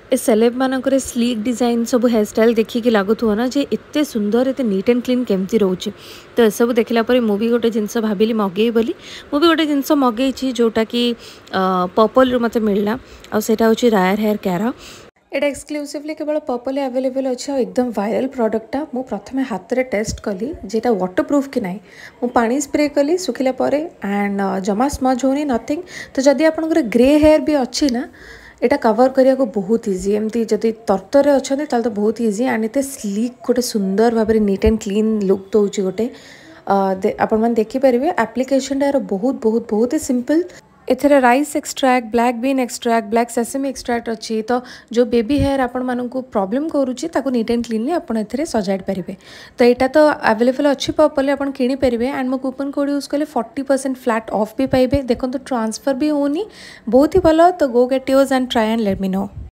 ଏ ସେଲେବ୍ ମାନଙ୍କର sleek design ସବୁ hairstyle ଦେଖିକି ଲାଗୁଥିବ ନା ଯେ ଏତେ ସୁନ୍ଦର, ଏତେ ନିଟ୍ ଆଣ୍ଡ କ୍ଲିନ୍ କେମିତି ରହୁଛି। ତ ଏସବୁ ଦେଖିଲା ପରେ ମୁଁ ବି ଗୋଟେ ଜିନିଷ ଭାବିଲି ମଗେଇବି ବୋଲି। ମୁଁ ବି ଗୋଟେ ଜିନିଷ ମଗେଇଛି, ଯେଉଁଟାକି ପର୍ପଲ୍ରୁ ମୋତେ ମିଳିଲା, ଆଉ ସେଇଟା ହେଉଛି ରାୟର ହେୟାର କେୟାର। ଏଇଟା ଏକ୍ସକ୍ଲୁସିଭଲି କେବଳ ପର୍ପଲ୍ରେ ଆଭେଲେବଲ୍ ଅଛି ଆଉ ଏକଦମ ଭାଇରାଲ୍ ପ୍ରଡ଼କ୍ଟଟା। ମୁଁ ପ୍ରଥମେ ହାତରେ ଟେଷ୍ଟ କଲି ଯେଟା ୱାଟର ପ୍ରୁଫ୍ କି ନାହିଁ। ମୁଁ ପାଣି ସ୍ପ୍ରେ କଲି ଶୁଖିଲା ପରେ ଆଣ୍ଡ ଜମା ସ୍ମଜ୍ ହେଉନି, ନଥିଙ୍ଗ। ତ ଯଦି ଆପଣଙ୍କର ଗ୍ରେ ହେୟାର ବି ଅଛି ନା, ଏଇଟା କଭର୍ କରିବାକୁ ବହୁତ ଇଜି। ଏମିତି ଯଦି ତରତରରେ ଅଛନ୍ତି, ତାହେଲେ ତ ବହୁତ ଇଜି। ଆଣ୍ଡ ଏତେ ସ୍ଲିକ୍, ଗୋଟେ ସୁନ୍ଦର ଭାବରେ ନିଟ୍ ଆଣ୍ଡ କ୍ଲିନ୍ ଲୁକ୍ ଦେଉଛି ଗୋଟେ। ଆପଣମାନେ ଦେଖିପାରିବେ, ଆପ୍ଲିକେସନଟା ଏହାର ବହୁତ ବହୁତ ବହୁତ ସିମ୍ପଲ୍। ଏଥିରେ rice extract, black bean extract, black sesame extract ଅଛି। ତ ଯେଉଁ ବେବି ହେୟାର ଆପଣମାନଙ୍କୁ ପ୍ରୋବ୍ଲେମ୍ କରୁଛି, ତାକୁ ନିଟ୍ ଆଣ୍ଡ କ୍ଲିନଲି ଆପଣ ଏଥିରେ ସଜାଡ଼ି ପାରିବେ। ତ ଏଇଟା ତ ଆଭେଲେବଲ୍ ଅଛି ପର୍ପଲ୍ରେ, ଆପଣ କିଣିପାରିବେ। ଆଣ୍ଡ ମୋ କୁପନ୍ କୋଡ଼୍ ୟୁଜ୍ କଲେ 40% ଫ୍ଲାଟ୍ ଅଫ୍ ବି ପାଇବେ। ଦେଖନ୍ତୁ, ଟ୍ରାନ୍ସଫର୍ ବି ହେଉନି, ବହୁତ ହି ଭଲ। ତ go get yours and try and let me know.